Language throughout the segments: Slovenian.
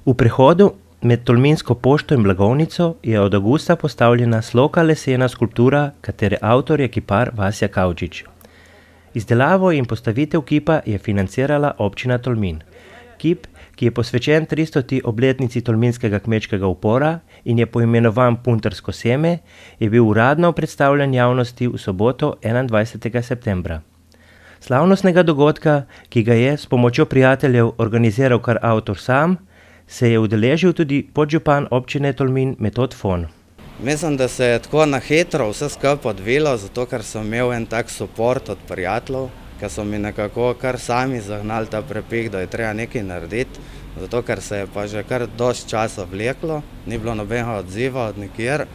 V prehodu med Tolminsko pošto in blagovnico je od avgusta postavljena sloka lesena skulptura, katere avtor je kipar Vasja Kavčič. Izdelavo in postavitev kipa je financirala občina Tolmin. Kip, ki je posvečen 300. obletnici tolminskega kmečkega upora in je poimenovan Puntarsko seme, je bil uradno predstavljen javnosti v soboto 21. septembra. Slavnostnega dogodka, ki ga je s pomočjo prijateljev organiziral kar avtor sam, se je udeležil tudi podžupan občine Tolmin Metod Fon. Mislim, da se je tako na hitro vse skupaj odvilo, zato ker sem imel en tak suport od prijateljev, ker so mi nekako kar sami zagnali ta prepih, da je treba nekaj narediti, zato ker se je pa že kar dosti časa vleklo, ni bilo nobenega odziva od nikjer,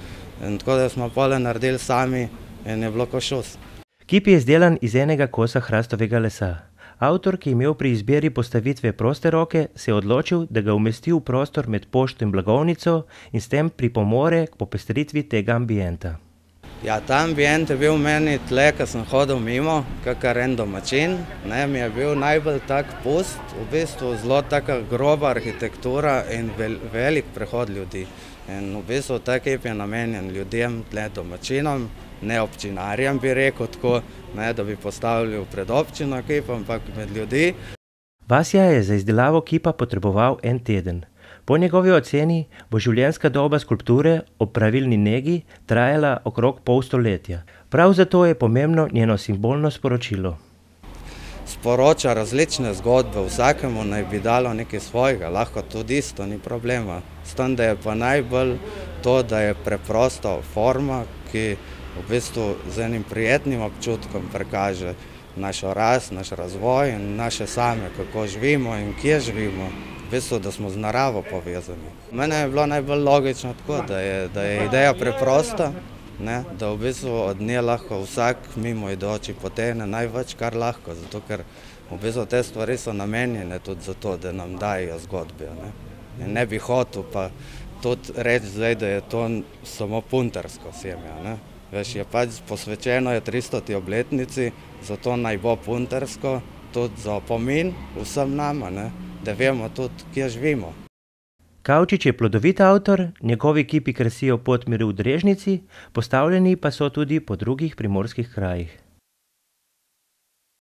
in tako da smo pole naredili sami in je bilo ko šus. Kip je izdelan iz enega kosa hrastovega lesa. Avtor, ki je imel pri izbiri postavitve proste roke, se je odločil, da ga umesti v prostor med pošto in blagovnico in s tem pripomore k popestritvi tega ambienta. Ja, ta ambient je bil meni tle, ko sem hodil mimo, kakor en domačin, mi je bil najbolj tak pust, v bistvu zelo taka groba arhitektura in velik prehod ljudi. In v bistvu ta kip je namenjen ljudem, tle domačinom, ne občinarjem bi rekel tako, da bi postavili pred občino kip, ampak med ljudi. Vasja je za izdelavo kipa potreboval en teden. Po njegovi oceni bo življenjska doba skulpture ob pravilni negi trajala okrog pol stoletja. Prav zato je pomembno njeno simbolno sporočilo. Sporoča različne zgodbe, vsakemu naj bi dalo nekaj svojega, lahko tudi isto, ni problema. S tem, da je pa najbolj to, da je preprosta forma, ki v bistvu z enim prijetnim občutkom prikaže našo rast, naš razvoj in naše same, kako živimo in kje živimo. V bistvu, da smo z naravo povezani. Mene je bilo najbolj logično tako, da je ideja preprosta, da v bistvu od nje lahko vsak mimo idoči potegne največ, kar lahko, zato ker v bistvu te stvari so namenjene tudi zato, da nam dajo zgodbe. In ne bi hotel pa tudi reči zdaj, da je to samo puntarsko seme. Veš, je pač posvečeno je 300. obletnici, zato naj bo puntarsko, tudi za opomin vsem nama, da vemo tudi, kje živimo. Kavčič je plodovit avtor, njegovi kipi krasijo Podmire v Drežnici, postavljeni pa so tudi po drugih primorskih krajih.